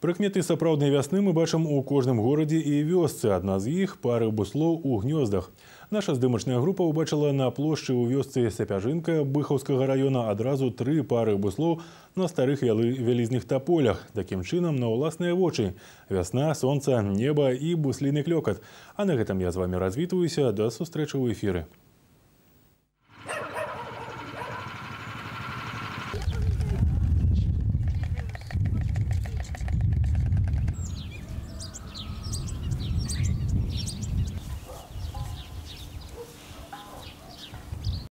Прыкметы сапраўднай вясны мы бачым у кожным горадзе і вёсцы. Адна з іх – пары буслоў у гнёздах. Наша здымачная група ўбачыла на плошчы ў вёсцы Сапяжынка Быхаўскага района адразу 3 пары буслоў на старых вялізных таполях. Такім чынам, на ўласныя вочы. Вясна, сонца, неба і бусліны клёкат. А на гэтым я з вами развітваюся. Да сустрэчы ў эфіры.